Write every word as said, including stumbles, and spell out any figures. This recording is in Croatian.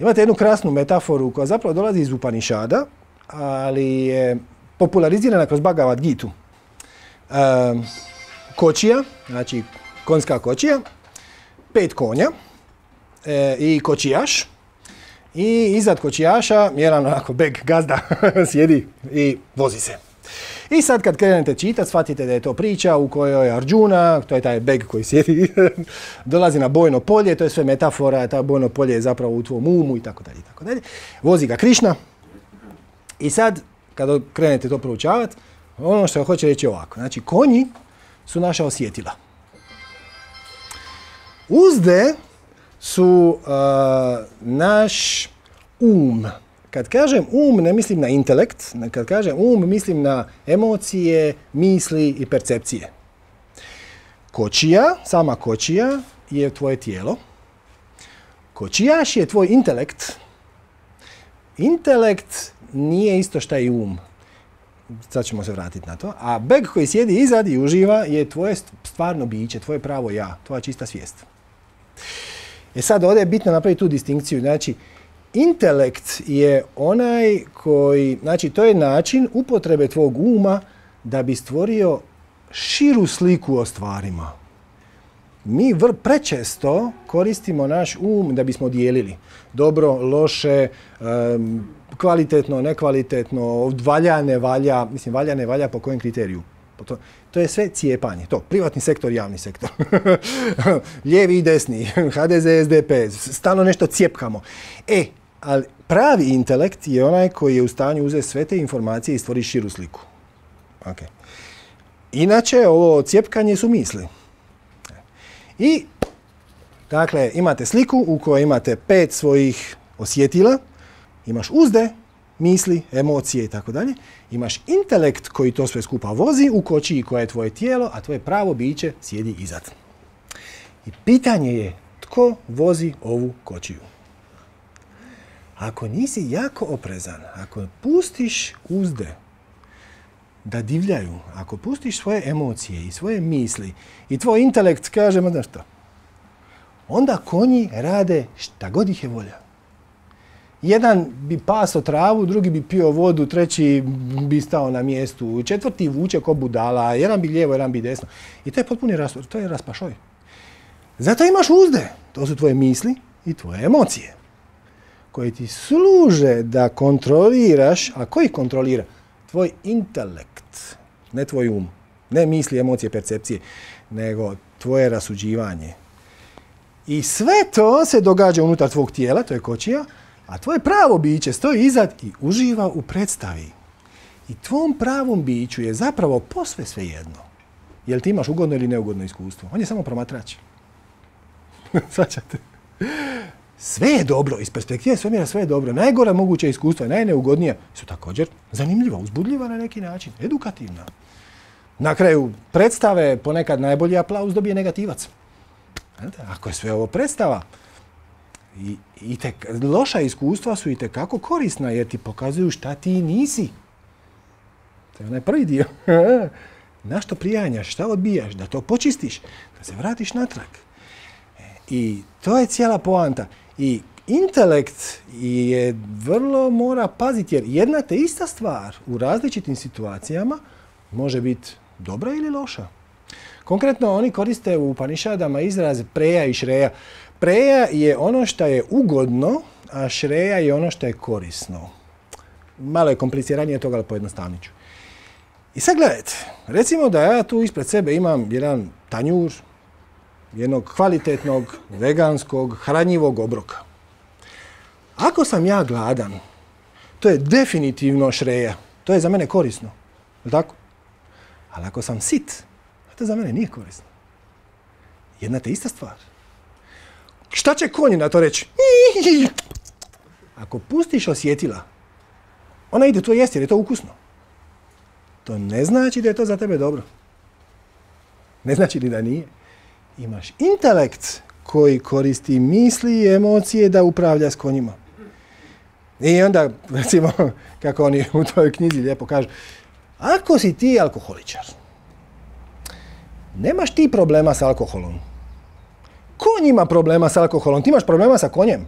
Imate jednu krasnu metaforu koja zapravo dolazi iz Upanišada, ali je popularizirana kroz Bhagavad Gitu. E, kočija, znači konjska kočija, pet konja e, i kočijaš. I iznad kočijaša jedan onako beg gazda sjedi i vozi se. I sad kad krenete čitati, shvatite da je to priča u kojoj Arjuna, to je taj beg koji sjedi, dolazi na bojno polje, to je sve metafora, ta bojno polje je zapravo u tvom umu i tako dalje, i tako dalje. Vozi ga Krišna. I sad, kada krenete to proučavati, ono što hoće reći ovako. Znači, konji su naša osjetila. Uzde su uh, naš um. Kad kažem um, ne mislim na intelekt, kad kažem um, mislim na emocije, misli i percepcije. Kočija, sama kočija je tvoje tijelo. Kočijaš je tvoj intelekt. Intelekt nije isto šta i um. Sad ćemo se vratiti na to. A beg koji sjedi izad i uživa je tvoje stvarno biće, tvoje pravo ja, tvoja čista svijest. E sad ovdje je bitno napraviti tu distinkciju. Znači, intelekt je onaj koji, znači to je način upotrebe tvog uma da bi stvorio širu sliku o stvarima. Mi vr prečesto koristimo naš um da bismo dijelili dobro, loše, um, kvalitetno, nekvalitetno, valja, ne valja, mislim valja, ne valja po kojem kriteriju. To, to je sve cijepanje. To, privatni sektor, javni sektor. Lijevi i desni, ha de ze, es de pe, stalno nešto cijepkamo. E, ali pravi intelekt je onaj koji je u stanju uzeti sve te informacije i stvori širu sliku. Okay. Inače, ovo cijepkanje su misli. I, dakle, imate sliku u kojoj imate pet svojih osjetila, imaš uzde, misli, emocije i tako dalje. Imaš intelekt koji to sve skupa vozi u kočiji koja je tvoje tijelo, a tvoje pravo biće sjedi izad. I pitanje je tko vozi ovu kočiju. Ako nisi jako oprezan, ako pustiš uzde da divljaju, ako pustiš svoje emocije i svoje misli i tvoj intelekt kaže, ma što, onda konji rade šta god ih je volja. Jedan bi paso travu, drugi bi pio vodu, treći bi stao na mjestu, četvrti vuče ko budala, jedan bi lijevo, jedan bi desno. I to je potpuni raspašoj, to je raspašoj. Zato imaš uzde, to su tvoje misli i tvoje emocije, koje ti služe da kontroliraš, a koji kontrolira? Tvoj intelekt, ne tvoj um, ne misli, emocije, percepcije, nego tvoje rasuđivanje. I sve to se događa unutar tvog tijela, to je kočija, a tvoje pravo biće stoji izad i uživa u predstavi. I tvom pravom biću je zapravo posve svejedno. Jel ti imaš ugodno ili neugodno iskustvo? On je samo promatrač. Svaćate? Sve je dobro, iz perspektive svemira sve je dobro. Najgora moguća iskustva, najneugodnija su također zanimljiva, uzbudljiva na neki način, edukativna. Na kraju predstave ponekad najbolji aplauz dobije negativac. Ako je sve ovo predstava, I, i te, loša iskustva su i tekako korisna jer ti pokazuju šta ti nisi. To je onaj prvi dio. Na što prijanjaš, šta odbijaš, da to počistiš, da se vratiš natrag. I to je cijela poanta. I intelekt je vrlo mora paziti jer jedna te ista stvar u različitim situacijama može biti dobra ili loša. Konkretno oni koriste u Upanišadama izraz preja i šreja. Preja je ono što je ugodno, a šreja je ono što je korisno. Malo je kompliciranije toga, ali pojednostavnit ću. I sad gledajte, recimo da ja tu ispred sebe imam jedan tanjur, jednog kvalitetnog, veganskog, hranjivog obroka. Ako sam ja gladan, to je definitivno šreja. To je za mene korisno. Je tako? Ali ako sam sit, to za mene nije korisno. Jedna te ista stvar. Šta će konji na to reći? Ako pustiš osjetila, ona ide to jesti jer je to ukusno. To ne znači da je to za tebe dobro. Ne znači ni da nije. Imaš intelekt koji koristi misli i emocije da upravlja s konjima. I onda, recimo, kako oni u toj knjizi lijepo kažu, ako si ti alkoholičar, nemaš ti problema s alkoholom. Konj ima problema s alkoholom, ti imaš problema sa konjem.